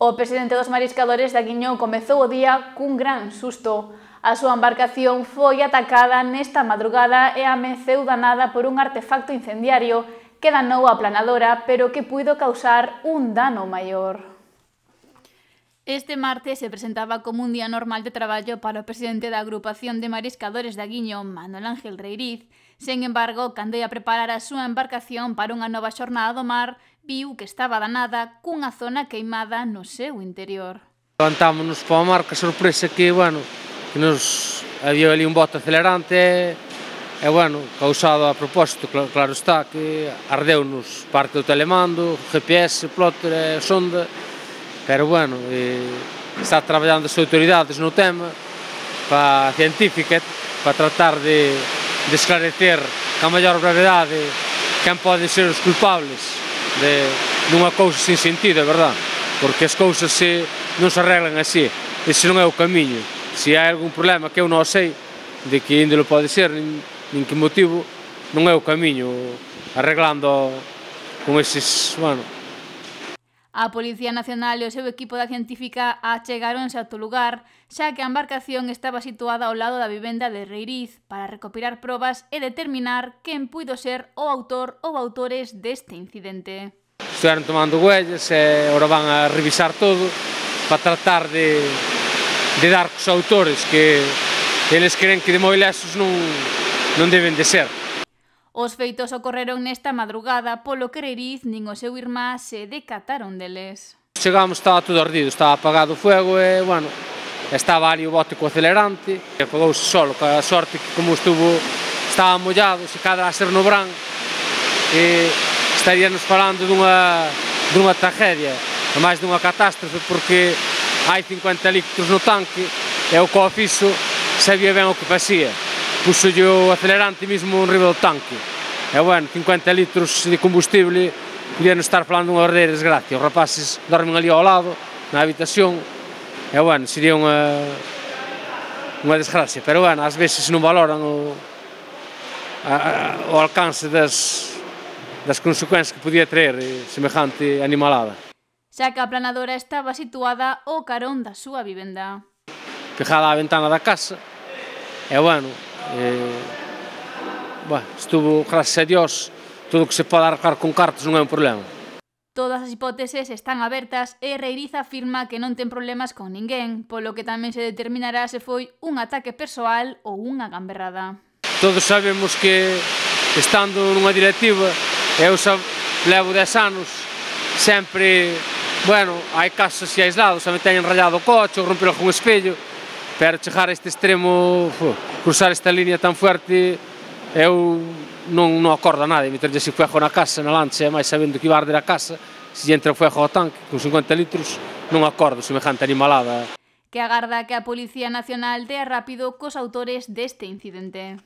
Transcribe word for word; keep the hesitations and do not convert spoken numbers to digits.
O presidente dos mariscadores de Aguiñón comezou o día cun gran susto. A súa embarcación foi atacada nesta madrugada e ameceu danada por un artefacto incendiario que danou a planadora, pero que puido causar un dano maior. Este martes se presentaba como un día normal de traballo para o presidente da agrupación de mariscadores de Aguiñón, Manuel Ángel Reiriz. Sen embargo, cando ia preparar a súa embarcación para unha nova xornada do mar, viu que estaba danada cunha zona queimada no seu interior. Levantámonos para o mar, que sorpresa que, bueno, que nos había ali un bote acelerante e, e bueno, causado a propósito, claro, claro está, que ardeu-nos parte do telemando, G P S, plotter e sonda, pero bueno, e, está traballando as autoridades no tema, para a científica, para tratar de, de esclarecer ca maior brevedade quen poden ser os culpables de nunha cousa sin sentido, é verdad, porque as cousas se, non se arreglan así, ese non é o camiño. Se hai algún problema que eu non sei de que índole pode ser, nin, nin que motivo, non é o camiño arreglando con eses, bueno. A Policía Nacional e o seu equipo da científica achegáronse ao lugar, xa que a embarcación estaba situada ao lado da vivenda de Reiriz para recopilar probas e determinar quen puido ser o autor ou autores deste incidente. Estiveron tomando huellas e agora van a revisar todo para tratar de, de dar cos autores, que eles creen que de moi lesos non, non deben de ser. Os feitos ocorreron nesta madrugada, polo que Reiriz nin o seu irmá se decataron deles. Chegamos, estaba todo ardido, estaba apagado o fuego e, bueno, estaba ali o bote co acelerante, e apagouse solo, ca sorte que como estuvo, estaba mollado, se cadra a ser no brán, e estaríanos falando dunha, dunha tragedia, a máis dunha catástrofe, porque hai cincuenta litros no tanque, e o co fixo sabía ben o que pasía. Puxolle o acelerante mesmo enriba do tanque. E, bueno, cincuenta litros de combustible, podían estar falando unha verdadeira desgracia. Os rapaces dormen ali ao lado, na habitación, e, bueno, sería unha, unha desgracia. Pero, bueno, ás veces non valoran o, a, o alcance das, das consecuencias que podía traer semejante animalada. Xa que a planadora estaba situada ao carón da súa vivenda. Pegada á ventana da casa, e, bueno, Eh, bueno, estuvo, gracias a Dios, todo o que se pode arreglar con cartas non é un problema. Todas as hipóteses están abertas e Reiriz afirma que non ten problemas con ninguén, polo que tamén se determinará se foi un ataque persoal ou unha gamberrada. Todos sabemos que, estando nunha directiva, eu xa levo dez anos, sempre, bueno, hai casos así aislados, xa me teñen rayado o coche ou rompelo con espello, pero chegar a este extremo, cruzar esta línea tan fuerte, eu non, non acordo a nadie, meterlle así fuego na casa, na lancha, máis sabendo que iba a arder a casa, se entra fuego ao tanque, con cincuenta litros, non acordo semejante animalada. Que agarda que a Policía Nacional dea rápido cos autores deste incidente.